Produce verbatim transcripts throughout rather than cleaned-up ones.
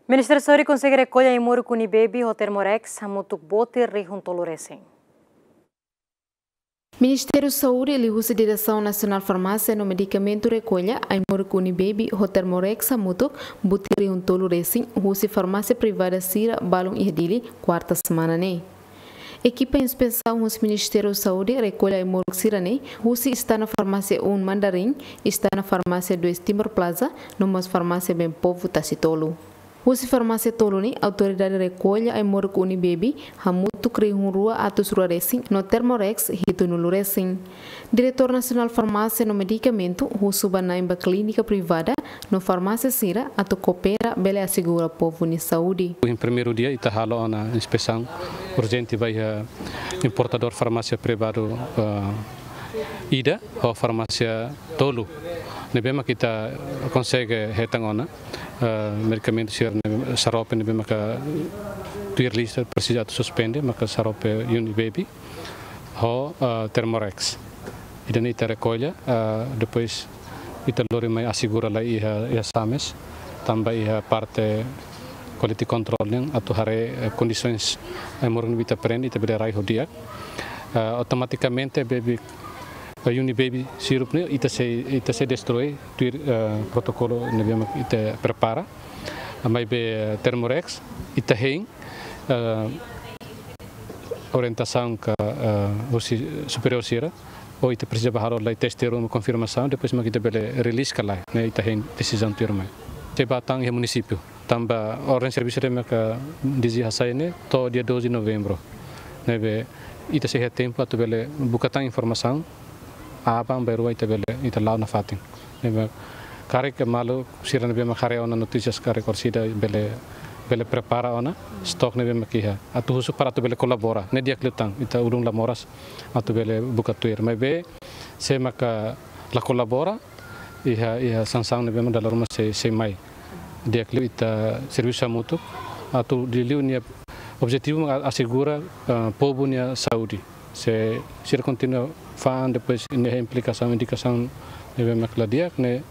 Ministériu Saúde konsege rekolla ai-moruk Unibaby ho Thermorex hamutuk botir rihun tolu resin. Ministériu Saúde liuhusi Diresaun Nasionál Farmásia no Medikamentu rekolla ai-moruk Unibaby ho Thermorex hamutuk botir rihun tolu resin husi farmásia privada sira balun iha Dili, kuarta semana ne'e. Ekipa inspesaun husi Ministériu Saúde rekolla ai-moruk sira-ne'e husi Istana Farmásia um Mandarin, Istana Farmásia dois Timor Plaza, no mós Farmásia Bem Povo Tasitolu. Husi farmásia tolu ne'e, autoridade rekolla ai-moruk Unibaby hamutuk rihun rua atus rua resin no Thermorex hitunulu resin. Diretór Nasionál Farmásia no Medikamentu husu ba na'in ba klínika privada no farmásia sira atu koopera bele asegura povu nia saúde. Iha primeiru dia ita halo ona inspesaun urjente ba iha importadór farmásia privadu, eh, ida ho farmásia tolu ne'ebé mak ita konsege hetan ona, eh, medikamentu sira ne'e, xarope ne'ebé maka tuir lista presiza atu suspende, maka xarope Unibaby ho, eh, Thermorex. Ida-ne'e ita rekolla, eh, depois ita lori mai asegura lai iha, iha SAMES, tanba iha parte quality control nian atu haree, eh, kondisoens ai-moruk ne'ebé ita prende, ita bele rai ho di'ak. Eh, automatikamente Baby, eh, Unibaby sirup ne'e ita sei, ita sei destroi tuir, eh, protokolu ne'ebé mak ita prepara. Maibé, eh, Thermorex ita hein, eh, orientasaun ka, eh, husi superiór sira, ou ita presiza ba halo lai teste ruma konfirmasaun, depois mak ita bele release ka lae, ne'e ita hein desizaun tuirmai. Sei ba tan iha munisípiu, tanba orden servisu ne'ebé maka DG hasai ne'e to'o dia doze novembru. Ne'ebé ita sei iha tempu atu bele buka tan informasaun, aban-bainrua ita bele, ita la'o nafatin. Ne'ebé karik maluk sira ne'ebé mak haree ona notísias karik orsida bele, bele prepara ona stok ne'ebé mak iha. Atu husu para atu bele kolabora. Ne'e di'ak liután, ita ulun la moras atu bele buka tuir. Maibé se maka la kolabora, iha, iha sansaun ne'ebé mak dala ruma sei, sei mai. Di'ak liu ita servisu hamutuk atu liuliu nia objetivu mak asegura, eh, povu nia saúde. Se sira kontinua fa'an, depois ne'e implikasaun, indikasaun ne'ebé mak la di'ak, ne'e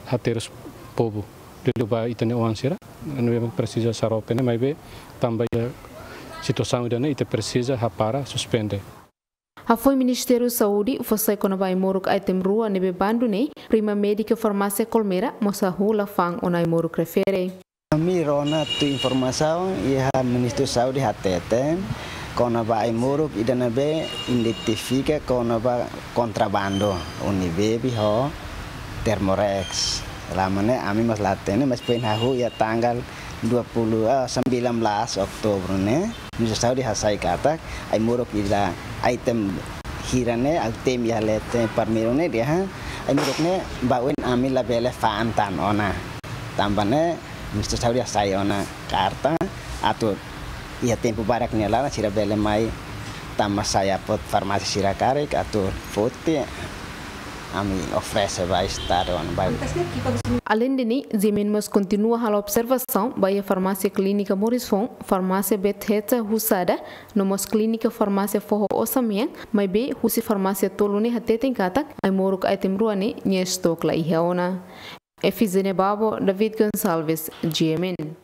haterus povu. Liuliu ba ita-nia oan sira ne'ebé mak presiza xarope ne'e, maibé tanba iha situasaun ida-ne'e ita presiza hapara, suspende. Hafoin Ministériu Saúde fó sai kona-ba ai-moruk item rua ne'ebé bandu ne'e, prima médika farmásia Colmera mós hahú la fa'an ona ai-moruk refere. Ami rona tuir informasaun iha Ministériu Saúde hateten kona-ba ai-moruk ida ne'ebé identifika kona-ba kontrabandu Unibaby ho Thermorex. Lama ne'e ami mós la hatene, mas foin hahú iha tanggal dua puluh, ah, sembilan belas Oktober ne'e, Ministériu Saúde hasai katak ai-moruk ida item hira ne'e, item iha leten primeiru ne'e dehan ai-moruk ne'e ba oin ami labele fa'an tan ona. Tanba ne'e Ministériu Saúde hasai ona karta atu iha tempu badak nia laran sira bele mai tama sai apot farmásia sira karik atu foti, ami oferese ba Estadu ona ba. Aleinde ne'e, GMN mós kontinua halo observasaun ba iha farmásia Clínica Morris Fon, farmásia Bethesda Husada, no mós Clínica Farmásia Foho Osa Mean, maibé husi farmásia tolu ne'e hateten katak ai-moruk item rua ne'e nia stok la iha ona. Efizene Babo, David Gonçalves, GMN.